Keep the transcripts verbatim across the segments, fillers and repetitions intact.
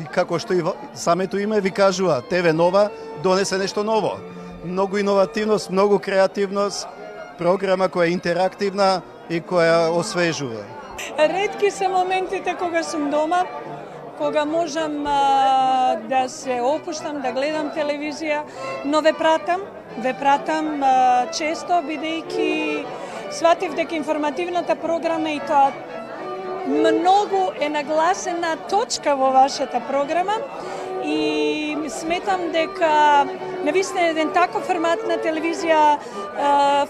И како што и самето име ви кажува, Те Ве Нова донесе нешто ново. Многу иновативност, многу креативност, програма која е интерактивна и која освежува. Ретки се моментите кога сум дома, кога можам а, да се опуштам, да гледам телевизија, но ве пратам, ве пратам а, често, бидејќи сватив дека информативната програма и тоа многу е нагласена точка во вашата програма и сметам дека навистина еден таков формат на телевизија е,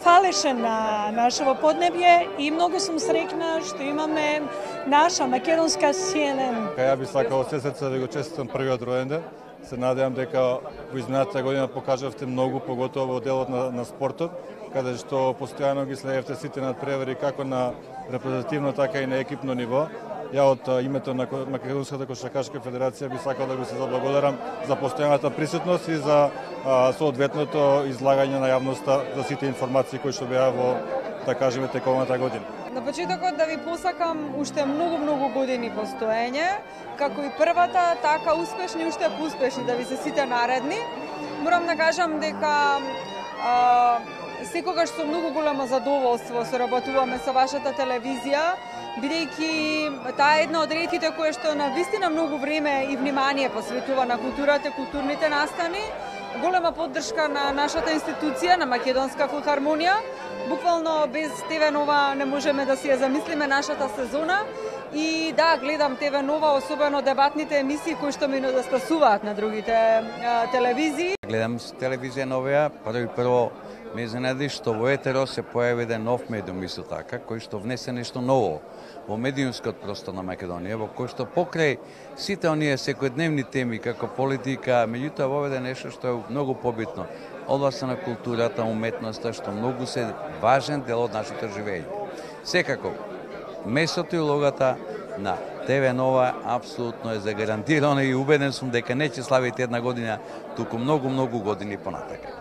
фалеше на нашето поднебје и многу сум среќна што имаме наша македонска Си Ен Ен. Ја би сакал од се срце да го честитам првиот ројенден. Се надевам дека во изминатата година покажавте многу, поготово во делот на, на спортот, каде што постојано ги следевте сите надпревари како на репрезентативно, така и на екипно ниво. Ја од името на Македонската кошаркашка федерација би сакал да го се заблагодарам за постојаната присутност и за а, соодветното излагање на јавноста за сите информации кои што беа во, да кажеме, тековната година. На почетокот да ви посакам уште многу-многу години постоење, како и првата, така успешни, уште поуспешни да ви се сите наредни. Морам да кажам дека а, секогаш со многу големо задоволство соработуваме со вашата телевизија, бидејќи таа е една од ретките која што на вистина многу време и внимание посветува на културата, културните настани, голема поддршка на нашата институција, на Македонска филхармонија. Буквално без Те Ве Нова не можеме да си ја замислиме нашата сезона. И да, гледам Те Ве Нова, особено дебатните емисии кои што ми недостасуваат на другите а, телевизии. Гледам телевизија новија, прво и прво ме изненади што во етеро се појави еден нов медиум исто така, кој што внесе нешто ново во медиумскиот простор на Македонија, во кој што покрај сите оние секојдневни теми како политика, меѓутоа воведе нешто што е многу побитно, областа на културата, уметноста, што многу се важен дел од нашето живење. Секако, местото и улогата на Те Ве Нова апсолутно е загарантирано и убеден сум дека не ќе славите една година, туку многу-многу години понатака.